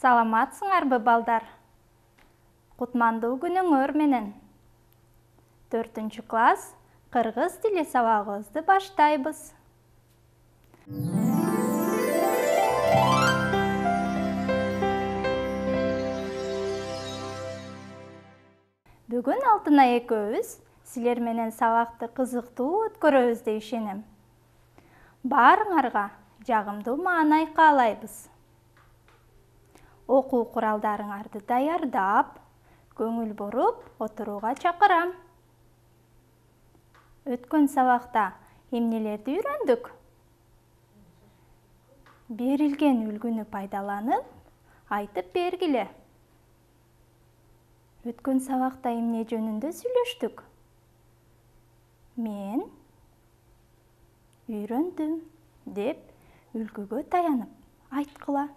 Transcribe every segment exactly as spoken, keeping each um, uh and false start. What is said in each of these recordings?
Саламатсыңарбы, балдар? Кутмандуу күнүңөр менен. Төртүнчү класс кыргыз тили сабагыбызды баштайбыз. Бүгүн Алтынай экөөбүз силер менен сабакты кызыктуу өткөрөбүз деп ишенем. Баарыңарга жагымдуу маанай каалайбыз. Окуу куралдарыңарды даярдап, көңүл буруп отурууга чакырам. Өткөн сабакта эмнелерди үйрөндүк? Берилген үлгүнү пайдаланып, айтып бергиле. Өткөн сабакта эмне жөнүндө сүйлөштүк? Мен үйрөндүм деп үлгүгө таянып айткыла.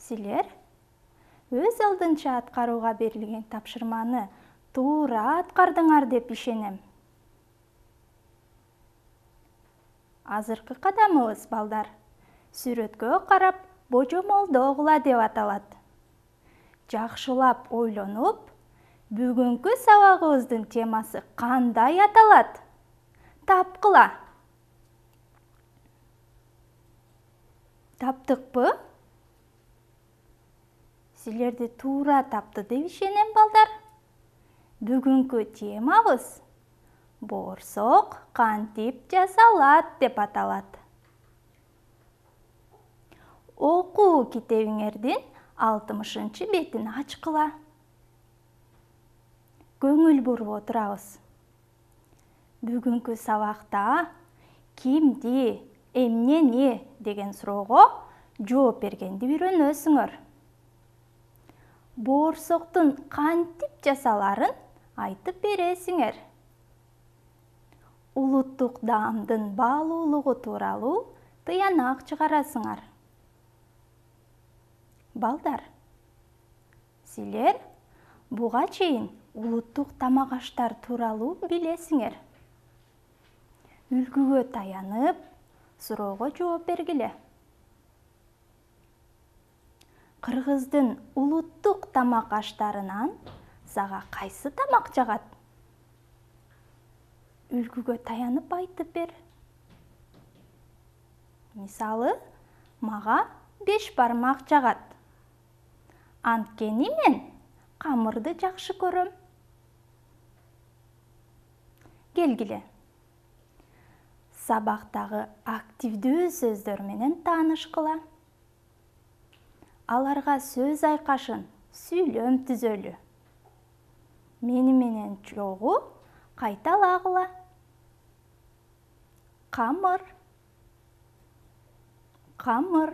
Силер өз алдынча аткарууга берилген тапшырманы туура аткардыңар деп ишенем. Азыркы кадамыбыз, балдар, сүрөткө карап божомолдогула деп аталат. Жакшылап ойлонуп, бүгүнкү сабагыбыздын темасы кандай аталат? Тапкыла. Таптыкпы? Силерди туура тапты деп ишенем, балдар. Бүгүнкү темабыз боорсок кантип жасалат деп аталат. Окуу китебиңердин алтымышынчы бетин ачкыла. Көңүл буруп отурабыз. Бүгүнкү сабакта кимди, эмнени деген суроого жооп бергенди үйрөнөсүңөр. Боорсоктун кантип жасаларын айтып бересиңер. Улуттук даамдын баалуулугу тууралуу тыянак чыгарасыңар. Балдар, силер буга чейин улуттук тамак аштар тууралуу билесиңер. Үлгүгө таянып, суроого жооп бергиле. Кыргыздын улуттук тамак аштарынан сага кайсы тамак жагат? Үлгүгө таянып айтып бер. Мисалы, мага беш бармак жагат. Анткени мен камырды жакшы көрөм. Келгиле. Сабактагы активдүү сөздөр менен таанышкыла. Аларга сөз айкашын сүйлөм түзөлү. Мени менен чогуу кайталагыла. Камыр. Камыр.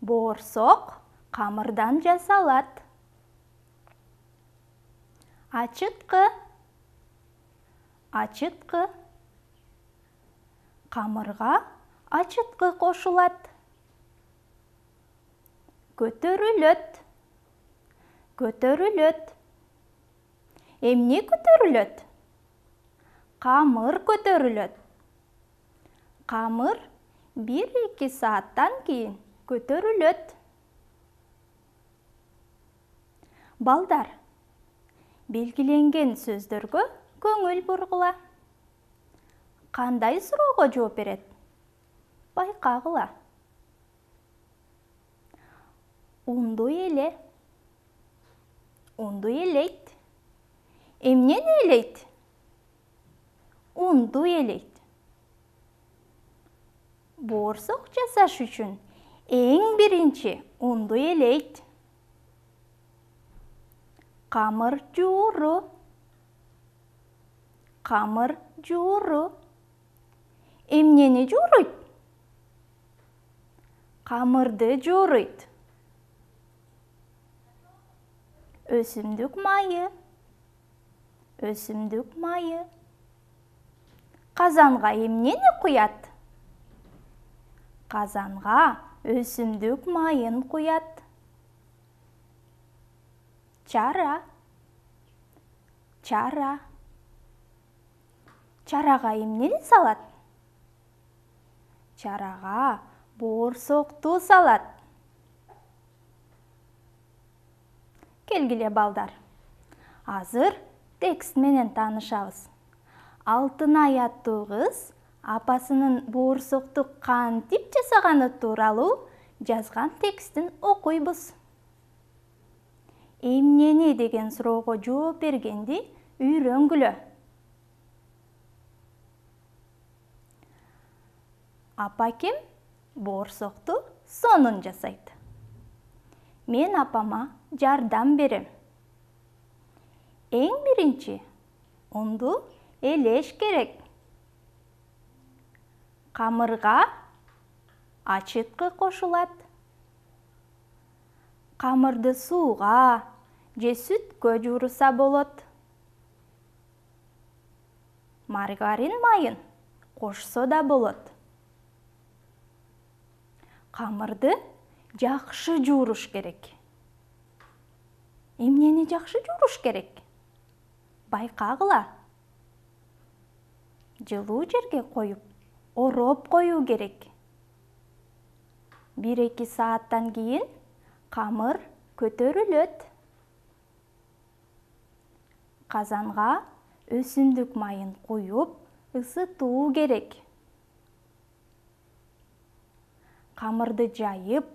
Боорсок камырдан жасалат. Ачыткы. Ачыткы. Камырга ачыткы кошулат. Көтөрүлөт. Көтөрүлөт. Эмне көтөрүлөт? Камыр көтөрүлөт. Камыр бир-эки сааттан кийин көтөрүлөт. Балдар, белгиленген сөздөргө көңүл бургула. Кандай суроого жооп берет? Байкагыла. Унду эле. Унду элейт. Эмнени элейт? Унду элейт. Боорсок жасаш үчүн эң биринчи унду элейт. Камыр жууру. Камыр жууру. Эмнени жууруйт? Камырды жууруйт. Өсүмдүк майы. Өсүмдүк майы. Казанга эмнени куят? Казанга өсүмдүк майын куят. Чара. Чара. Чарага эмнени салат? чарага боорсокту салат. Келгиле балдар. Азыр текст менен таанышабыз. Алтынай аттуу кыз апасынын боорсокту кантип жасаганы тууралуу жазган текстин окуйбуз. Эмнени деген суроого жооп бергенди үйрөнгүлө. Апакем боорсокту сонун жасайт. Мен апама жардам берем. Эң биринчи унду элеш керек. Камырга ачыткы кошулат. Камырды сууга же сүткө жууруса болот. Маргарин майын кошсо да болот. Камырды жакшы жууруш керек. Эмнени жакшы жууруш керек? Байкагыла. Жылуу жерге коюп, ороп коюу керек. бир-эки сааттан кийин камыр көтөрүлөт. Казанга өсүмдүк майын куюп, ысытуу керек. Камырды жайып,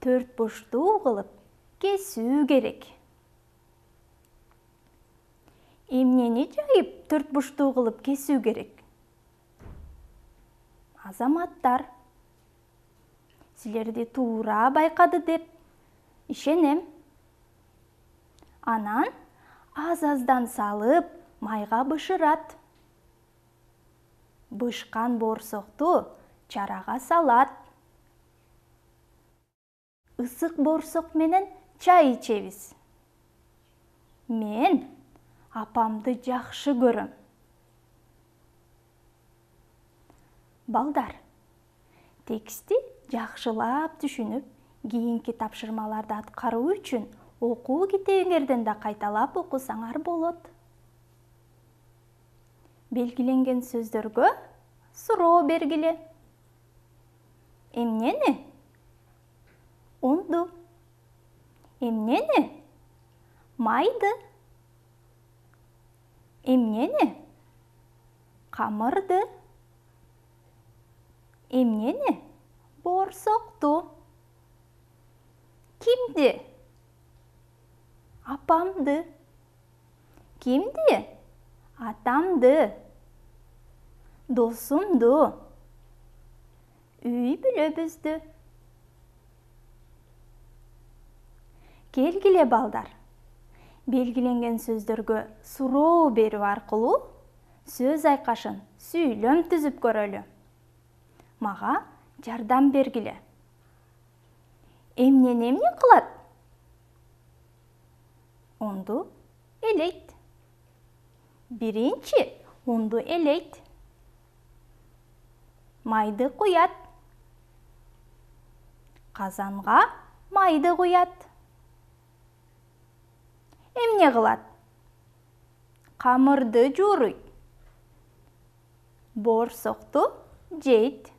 төрт бурчтуу кылып кесүү керек. Эмнени жайып, төрт бурчтуу кылып кесүү керек? Азаматтар, силерди туура байкады деп ишенем. Анан аз-аздан салып, майга бышырат. Бышкан боорсокту чарага салат. Ысык боорсок менен чай ичебиз. Мен апамды жакшы көрөм. Балдар, текстти жакшылап түшүнүп, кийинки тапшырмаларды аткаруу үчүн окуу китебиңерден да кайталап окусаңар болот. Белгиленген сөздөргө суроо бергиле. Эмнени? Унду. Эмнени? Майды. Эмнени? Камырды. Эмнени? Боорсокту. Кимди? Апамды. Кимди? Атамды. Досумду. Үй бүлөбүздү. Келгиле балдар. Белгиленген сөздөргө суроо берүү аркылуу сөз айкашын сүйлөм түзүп көрөлү. Мага жардам бергиле. Эмнени эмне кылат? Унду элейт. Биринчи унду элейт. Майды куят. Казанга майды куят. Эмне кылат? Камырды жууруйт. Боорсокту жейт.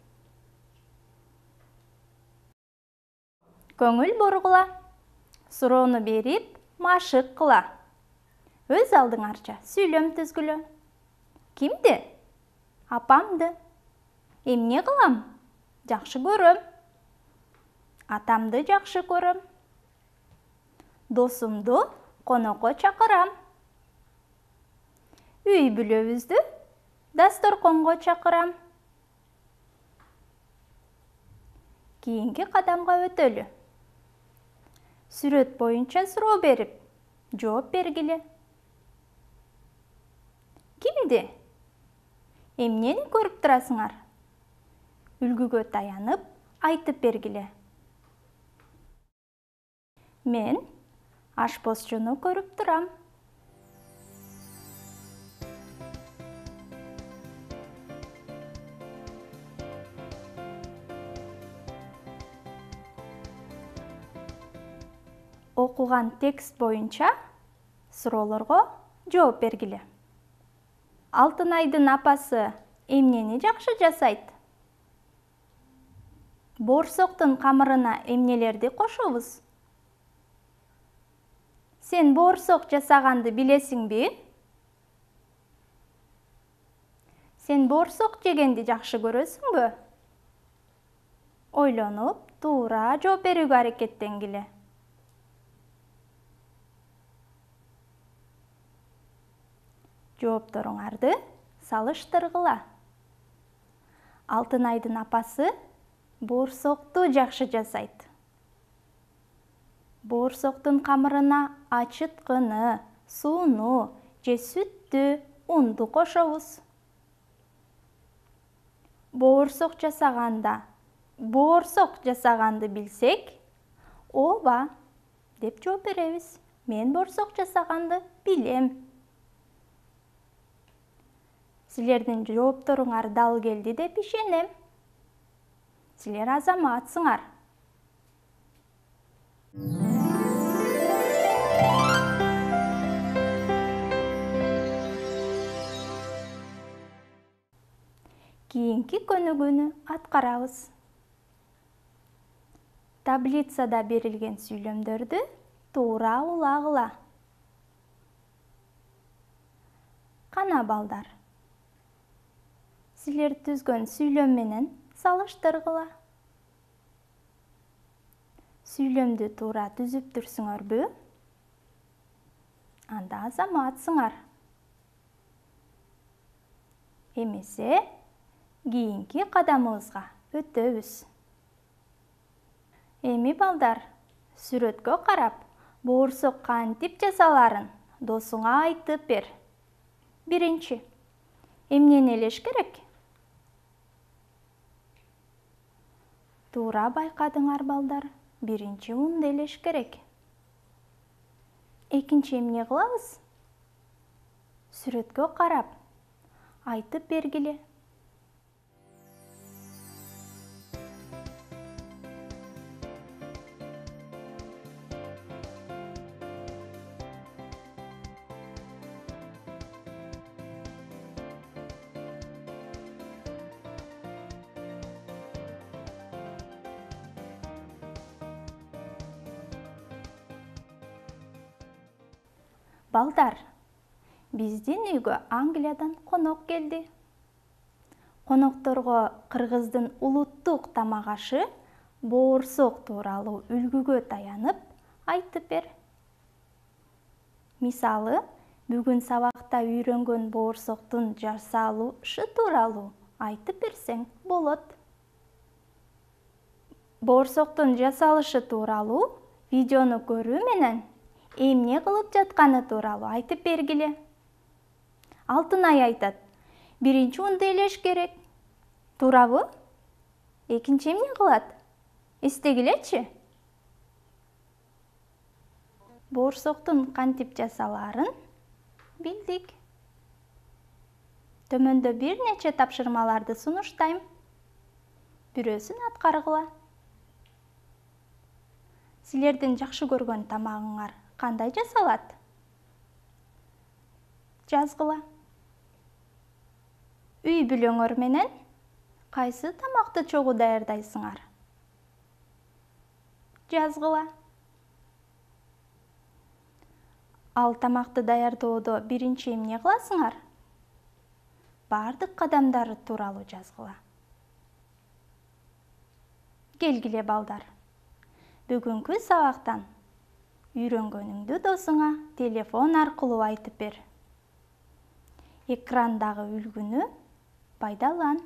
Көңүл бургула. Суроону берип, машык кыла. Өз алдыңарча сүйлөм түзгүлө. Кимди? Апамды. Эмне кылам? Жакшы көрөм. Атамды жакшы көрөм. Досумду конокко чакырам. Үй бүлөбүздү дасторконго чакырам. Кийинки кадамга өтөлү. Сүрөт боюнча суроо берип, жооп бергиле. Кимди? Эмнени көрүп турасыңар? Үлгүгө таянып, айтып бергиле. Мен ашпозчуну көрүп турам. Окуган текст боюнча суроолорго жооп бергиле. Алтынайдын апасы эмнени жакшы жасайт? Боорсоктун камырына эмнелерди кошобуз? Сен боорсок жасаганды билесиңби? Сен боорсок жегенди жакшы көрөсүңбү? Ойлонуп, туура жооп берүүгө аракеттенгиле. Жоопторуңарды салыштыргыла. Алтынайдын апасы боорсокту жакшы жасайт. Боорсоктун камырына ачыткыны, сууну же сүттү, унду кошобуз. Боорсок жасаганда, боорсок жасаганды билсек, ооба деп жооп беребиз. Мен боорсок жасаганды билем. Силердин жоопторуңар дал келди деп ишенем. Силер азаматсыңар. Кийинки көнүгүүнү аткарабыз. Таблицада берилген сүйлөмдөрдү туура улагыла. Кана балдар. Силер түзгөн сүйлөм менен салыштыргыла. Сүйлөмдү туура түзүп турсуңарбы? Анда азаматсыңар. Эмесе, кийинки кадамыбызга өтөбүз. Эми балдар, сүрөткө карап, боорсок кантип жасаларын досуңа айтып бер. Биринчи, эмнени элеш керек? Туура байкадыңар балдар, биринчи унду элеш керек. Экинчи эмне кылабыз? Сүрөткө карап, айтып бергиле. Балдар, биздин үйгө Англиядан конок келди. Конокторго кыргыздын улуттук тамак ашы боорсок тууралуу үлгүгө таянып айтып бер. Мисалы, бүгүн сабакта үйрөнгөн боорсоктун жасалышы тууралуу айтып берсең болот. Боорсоктун жасалышы тууралуу видеону көрүү менен эмне кылып жатканы тууралуу айтып бергиле. Алтынай айтат, биринчи унду элеш керек. Туурабы? Экинчи эмне кылат? Эстегилечи. Боорсоктун кантип жасалаарын билдик. Төмөндө бир нече тапшырмаларды сунуштайм. Бирөөсүн аткаргыла. Силердин жакшы көргөн тамагыңар кандай жасалат? Жазгыла. Үй бүлөңөр менен кайсы тамакты чогуу даярдайсыңар? Жазгыла. Ал тамакты даярдоодо биринчи эмне кыласыңар? Бардык кадамдары тууралуу жазгыла. Келгиле балдар. Бүгүнкү сабактан үйрөнгөнүңдү досуңа телефон аркылуу айтып бер. Экрандагы үлгүнү пайдалан.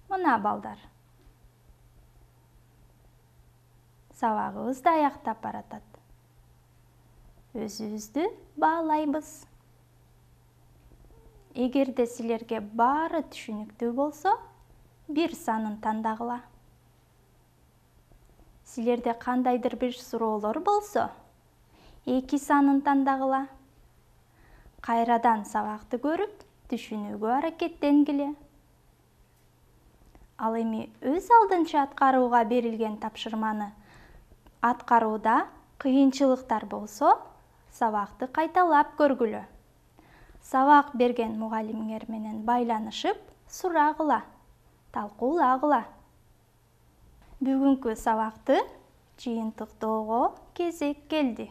Мына балдар. Сабагыбыз да аяктап баратат. Өзүбүздү баалайбыз. Эгерде силерге баары түшүнүктүү болсо, бир санын тандагыла. Силерде кандайдыр бир суроолор болсо, эки санын тандагыла. Кайрадан сабакты көрүп, түшүнүүгө аракеттенгиле. Ал эми өз алдынча аткарууга берилген тапшырманы аткарууда кыйынчылыктар болсо, сабакты кайталап көргүлө. Сабак берген мугалимиңер менен байланышып, сурагыла, талкуулагыла. Бүгүнкү сабакты жыйынтыктоого кезек келди.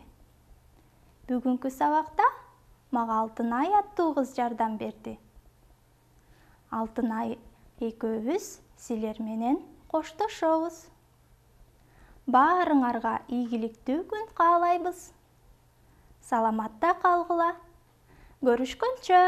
Бүгүнкү сабакта мага Алтынай аттуу кыз жардам берди. Алтынай экөөбүз силер менен коштошобуз. Баарыңарга ийгиликтүү күн каалайбыз. Саламатта калгыла. Көрүшкөнчө.